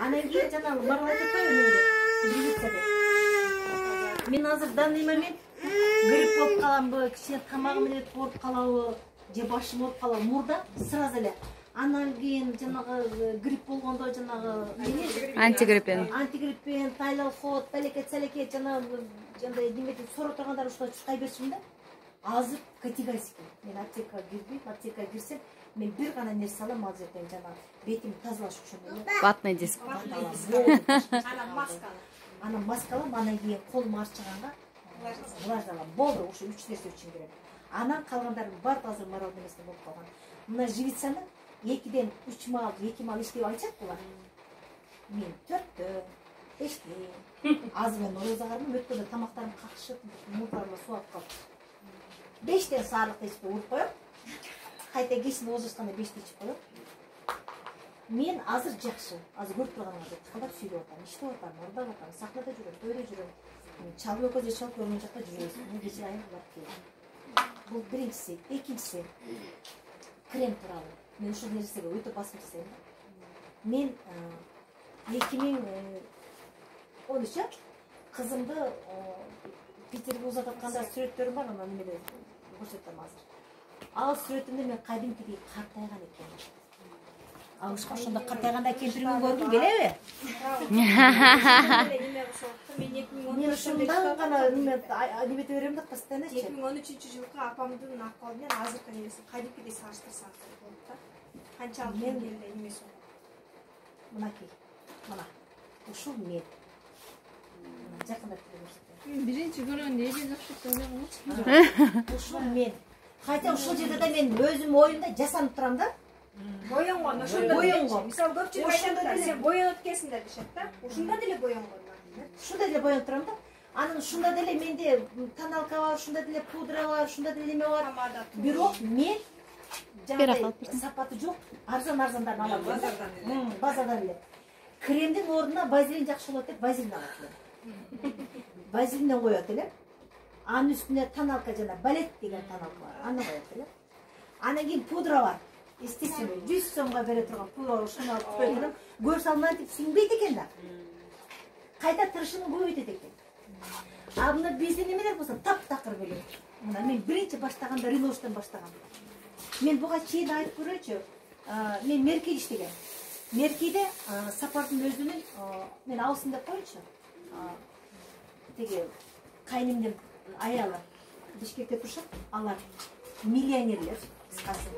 Анан кийин жанагы барып айтып атпайбы эмнеде? Живицада. Мен азыр данный момент грипп болуп каламбы, кичине тамагым эле ооруп калабы, же башым ооруп калабы, мурда сразу эле. Анан кийин жанагы грипп болгондо жанагы антигриппен, тайлалхот, балекет-салекет жанагы неметип сороо тургандар ушуга чуркай беришим да. Азыр категорически мен аптекага кирбейм, аптекага кирсем мен бир гана нерсе алам, ал жерден жанагы бетимди тазалаш үчүн эле. Ватный диск. Анан маска алам, анан кийин колум арчыганга влаж алам. Болду, ушу 3 нерсе үчүн кирем. Анан калгандарын баары азыр морал эместе болуп калган. Мына живицаны 2ден 3 мал, 2 мал иштеп алчак булар. Мен 4тө, 5те. Азыр мен орозагармын, өткөндө тамактарым какшып, мурдарлар сууап калып. 5тен саарлыкта ичип уруп коем. Кайта кечин озушканда 5те ичип коем. Мен азыр жакшы. Азыр көрүп турганыңардай тыкылдап сүйлөп атам, иштеп атам, ордоп атам, сахнада жүрөм, тойдо жүрөм. Чалып экөөзү чалып көргөн жакта жүрөбүз. Мен кечээ айым барып келдим. Бул биринчиси, экинчиси крем тууралуу. Мен ушул нерсеге өтө басым жасайм. Мен 2013 кызымды Питерге узататканда сүрөттөрүм бар, анан эмеде көрсөтөм азыр. Ал сүрөтүмдө мен кадимкидей картайган экенмин. Ал ошондо картайганда кемпириңди көргүң келеби? Мен ушундан гана немете берем да, постоянно. 2013-жылкы апамдын акыбалы менен азыркы нерсе кадимкидей салыштырсак болот да. Канчалык эле эмес. Мынакей. Мына. Ушул мен. Жакындап көрсөтөм. Биринчи көргөндө эже жакшы ойлогом. Ушул мен. Кайта ушул жерде да мен өзүм оюмда жасанып турам да. Боёнгон, ошондо боёнгон. Мисалы көпчүлүк айтат, сен боёнуп келсиң деп дешет да. Ушунда деле боёнгон. Ушунда деле боёнуп турам да. Анан ушунда деле менде тоналка бар, ушунда деле пудра бар, ушунда деле эме бар. Бирок мен жана сапаты жок, арзан-арзандарын алам. Базардан эле. Кремдин ордуна базилин жакшы болот деп базилин алат элем. Базилинден коет элем. Анын үстүнө тоналка жана балет деген тоналка бар. Аны коет элем. Анан кийин пудра бар. Естественно, 100 сомго бере турган пудра ушуну алып коет элем. Көз салмантип сиңбейт экен да. Кайта тырышымы көбөйтөт экен. А мына биздин эмелер болсо таптакыр келет. Мына мен биринчи баштаганда Риношдон баштагам. Мен буга чейин айтып көрөчү. Мен Меркиде иштегем. Меркиде Сапардын өзүнүн мен Алсын деп коечу. Теги кайнымдын аялы Бишкекте турушат. Алар миллионерлер, кыскасы.